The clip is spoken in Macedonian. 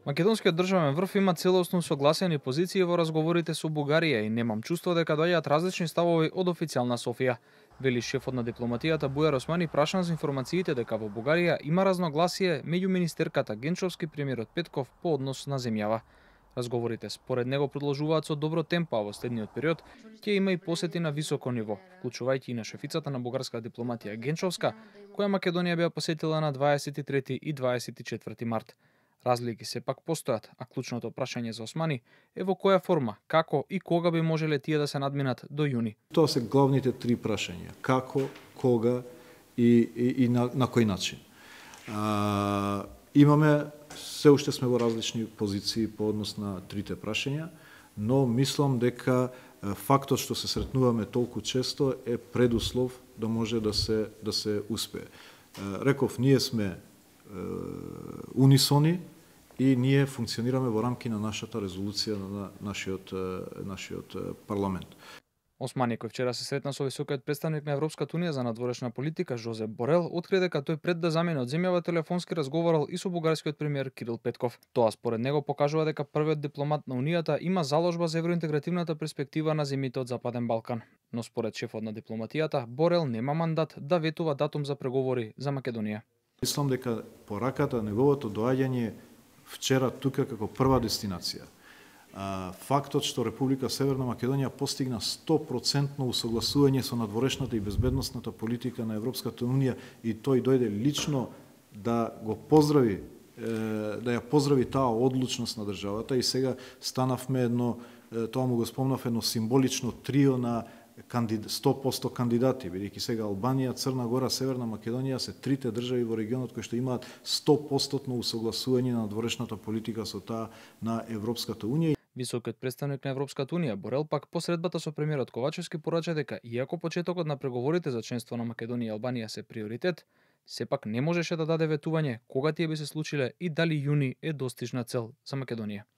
Македонскиот државен врв има целосно согласени позиции во разговорите со Бугарија и немам чувство дека доаѓаат различни ставови од официјална Софија, вели шефот на дипломатијата Бујар Османи прашан за информациите дека во Бугарија има разногласие меѓу министерката Генчовски и премиерот Петков по однос на земјава. Разговорите според него продолжуваат со добро темпо, а во следниот период ќе има и посети на високо ниво, вклучувајќи и на шефицата на бугарска дипломатија Генчовска, која Македонија беа посетила на 23 и 24 март. Разлики сепак постојат, а клучното прашање за Османи е во која форма, како и кога би можеле тие да се надминат до јуни. Тоа се главните три прашања: како, кога и на кој начин. Имаме, се уште сме во различни позиции по однос на трите прашања, но мислам дека фактот што се сретнуваме толку често е предуслов да може да се успее. Реков, ние сме унисони и ние функционираме во рамки на нашата резолуција на нашиот парламент. Османи, кој вчера се сретна со високиот претставник на Европската унија за надворешна политика Жозеп Борел, откри дека тој пред да замине од земјава телефонски разговарал и со бугарскиот премиер Кирил Петков. Тоа според него покажува дека првиот дипломат на унијата има заложба за евроинтегративната перспектива на земјите од Западен Балкан. Но според шефот на дипломатијата, Борел нема мандат да ветува датум за преговори за Македонија. Мислам дека пораката, неговото доаѓање вчера тука како прва дестинација, фактот што Република Северна Македонија постигна 100% усогласување со надворешната и безбедносната политика на Европската унија и тој дојде лично да го поздрави, да ја поздрави таа одлучност на државата, и сега станавме едно, тоа му го спомнав, едно символично трио на 100% кандидати, бидејќи сега Албанија, Црна Гора, Северна Македонија се трите држави во регионот кои што имаат 100% усогласување на надворешната политика со таа на Европската унија. Високиот претставник на Европската унија Борел пак по средбата со премиерот Ковачевски порача дека иако почетокот на преговорите за членство на Македонија и Албанија се приоритет, сепак не можеше да даде ветување кога тие би се случиле и дали јуни е достижна цел за Македонија.